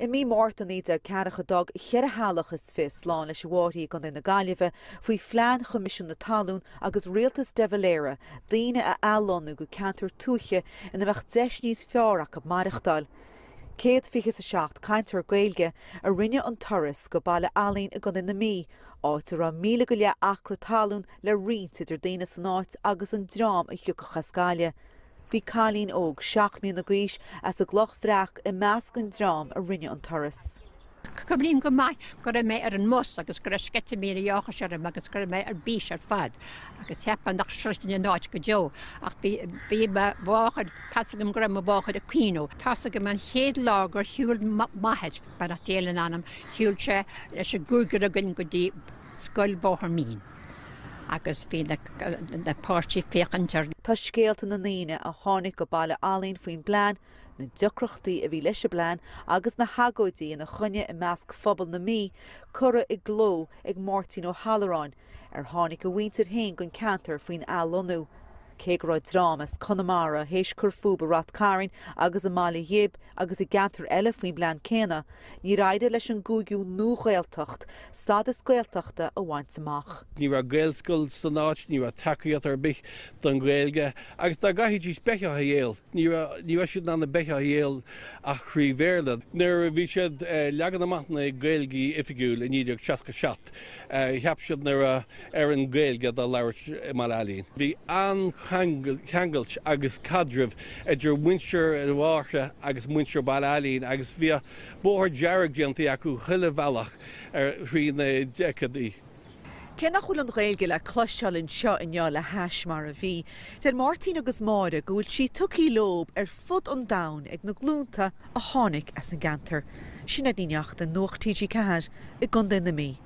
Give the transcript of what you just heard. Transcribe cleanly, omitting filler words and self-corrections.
I mí Márta 1940 d'fhág cheithre theaghlach is fiche slán leis an bhFáirche i gContae na Gaillimhe faoi phlean Choimisiún na Talún agus rialtas de Valera daoine a athlonnú go ceantair tuaithe ina mbeadh deis níos fearr acu maireachtáil. 127 cainteoir Gaeilge a rinne an turas go Baile Ailín i gContae na Mí, áit a raibh 1,000 go leith acra talún le roinnt idir daoine san áit agus an dream a thiocfadh as Gaillimh. Bhí cailín óg 7 mbliana d'aois as an gCloch Bhreac i measc an dream a rinne an turas. Cuimhním go maith go raibh mé ar an mbus agus go raibh sceitimíní áthais orm agus go raibh mé ar bís ar fad agus cheapfá nach sroichfinn an áit go deo ach bhí bhí mo mháthair, tá's agam go raibh mo mháthair ag caoineadh. Tá's agam an chéad lá gur shiúil m'athair, beannacht Dé lena anam, shiúil sé leis an gcúigear againn go dtí Scoil Bhóthar Mín agus bhí na páistí ag féachaint ar. Tá scéalta na ndaoine a tháinig go Baile Ailín faoin bplean, na deacrachtaí a bhí leis an bplean agus na hagóidí ina choinne i measc phobal na Mí curtha i gcló ag Máirtín Ó hAlluráin, ar tháinig a mhuintir féin don ceantar faoin athlonnú. Cé go raibh dream as Conamara théis cur fúthu i Rath Cairn agus i mBaile Ghib agus i gceantair eile faoin bplean céanna, níor éirigh leis an gcúigiú Nua-Ghaeltacht stádas Gaeltachta a bhaint amach. Ní raibh Gaelscoil san áit, ní raibh tacaíocht ar bith don Ghaeilge agus dá gcaithfidís beithíoch a dhíol, ní raibh ní raibh siad in ann an beithíoch a dhíol ach thrí Bhéarla. Nuair a bhí siad ag leagan amach na Gaeilge oifigiúil i 1967, cheap siad nach raibh ar an Ghaeilge dá labhairt i mBaile Ailín. Bhí an-cheangailt agus caidreamh idir muintir an Fháirche agus muintir Baile Ailín agus bhíodh bóthar dearg déanta acu chuile bhealach thrí na deiceadaí. Cé nach bhfuil an Ghaeilge le cloisteáil anseo inniu le hais mar a bhí, deir Máirtín agus Máire go bhfuil sí tugtha leo ar fud an domhain ag na glúnta a tháinig as an gceantar. Sinéad Ní Neachtain, Nuacht TG4 i gContae na Mí.